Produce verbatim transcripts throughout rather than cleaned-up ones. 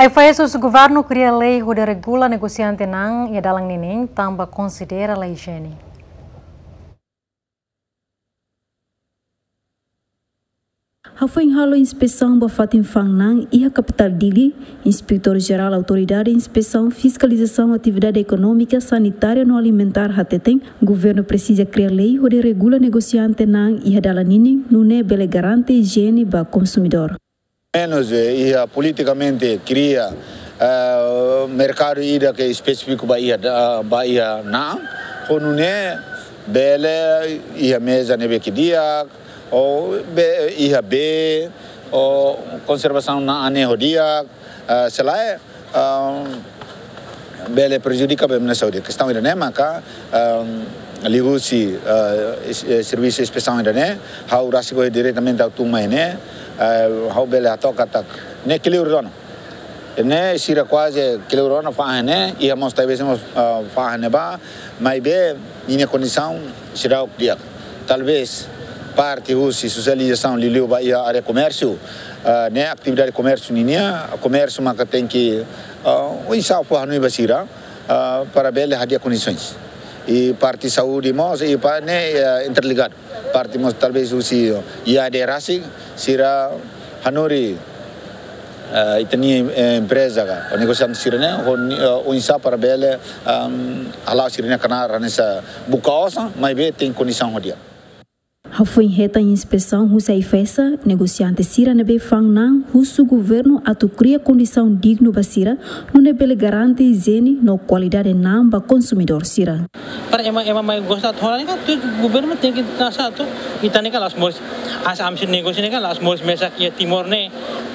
F A S husu governu kria lei hodi regula negosiante na'an iha dalan ninin tanba konsidera la ijiene. Hafoin halo inspesaun ba fatin fa'an na'an iha kapitál Dili, Inspetór Jerál Autoridade Inspesaun Fiskalizasaun Atividade Ekonómika, Sanitária no Alimentár hateten, governu presiza kria lei hodi regula negosiante na'an iha dalan ninin, nune'e bele garante ijiene ba konsumidór. Menus, eh, iha politikamente kria, eh, merkadu ida ke espesífiku ba iha da-, ba iha na'an, ho nune'e bele iha meza ne'ebé ke di'ak, ou be-, iha bee, ou konservasaun na'an ne'e ho di'ak, eh, selae, ah, bele prejudika ba ema nia saúde. Kestaun ida-ne'e maka, ah, liuhusi, ah, es-, eh, servisu inspesaun ida-ne'e, ha'u rasik ohin diretamente ha'u tun mai ne'e, ah, ha'u bele hato'o katak ne'e kleur dona. Ne'e sira kuaze kleur dona fa'an ne'e, iha mós talvés mós, ah, fa'an ne'ebá, maibé ninia kondisaun seidauk di'ak. Talvés parte husi sosializasaun liuliu ba iha área komérsiu, ah, ne'e atividade komérsiu ninian, komérsiu maka tenke, ah, oinsá fó hanoin ba sira, ah, para bele hadi'a kondisoens. I parte saúde mós, i pa-, ne'e, ah, interligadu. Parte mós talvés husi I A D rasik, sira hanorin, ah, ita-nia, eh, empreza ka, ou negosiante sira-ne'e, ho ni-, ah, oinsá para bele, ah, hala'o sira-nia knaar hanesan buka osan, maibé tenke kondisaun ho di'ak. Hafoin hetan inspesaun husi AIFAESA, negosiante sira ne'ebé fa'an na'an husu governu atu kria kondisaun dignu ba sira, nune'e bele garante ijiene no kualidade na'an ba konsumidór sira. Para ema, ema mai gosta atu hola ne'e kan, tuir governu tenke tasa atu, ita ne'e kan la'ós moris, hanesan ami sira negósiu ne'e kan la'ós moris mesak iha Timor ne'e.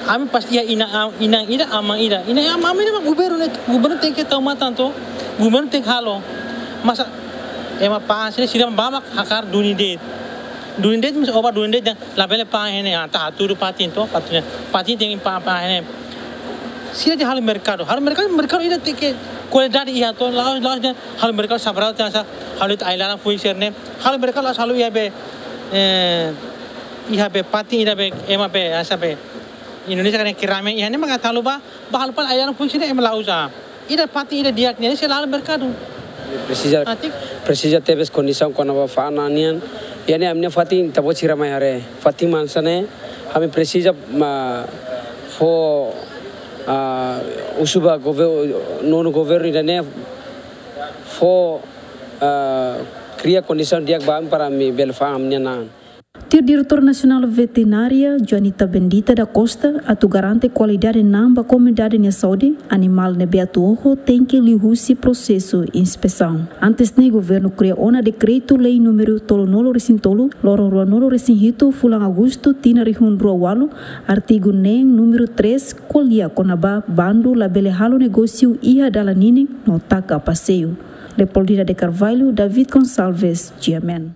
Ami pasti iha inan, am-, inan ida, aman ida. Inan, am-, aman ida mak governu ne'e, governu tenke tau matan to, governu tenke halo. Masa ema fa'an sira, sira bá mak hakarak duni de'it. Duni de'it, masa oba duni de'it, labele fa'an iha ne'e, ah, ita hatudu fatin to, fatin, fatin tenke fa'an, fa'an iha ne'e. Sira de'it halo merkadu, halo merkadu, merkadu ida tenke kualidade iha to, la'ós, la'ós de'it halo merkadu sabrau te asa, halo ita ai-laran foin sira-ne'e, halo merkadu la'ós halo iha be, eh, iha be fatin ida be, ema be, asa be, Indonézia kan keramik iha ne'e maka halo bá, bá halo fali ai-laran foin sira-ne'e ema la uza. Ida fatin ida di'ak nian sira la halo merkadu. Presiza, atik, presiza tebes kondisaun kona-ba fa'an na'an nian. Iha ne'e ami-nia fatin ita-boot sira mai haree. Fatin mansa ne'e, ami presiza ma fó, ah, husu ba gover-, nonu governu ida-ne'e fó, ah, kria kondisaun di'ak ba ami para ami bele fa'an ami-nia na'an. Tuir Diretór Nasionál Veterinária, Joanita Bendita da Costa, atu garante kualidade na'an ba komunidade nia saúde, animál ne'ebé atu oho tenke liuhusi prosesu inspesaun. Antes ne'e governu kria ona dekretu-lei númeru tolunulu-resin-tolu, loron ruanulu-resin-hitu, fulan Agostu, tinan rihun rua ualu, artigu neen númeru três, ko'alia kona-ba bandu labele halo negósiu iha dalan ninin no taka paseiu. Leopoldina de Carvalho, David Gonçalves, G M N.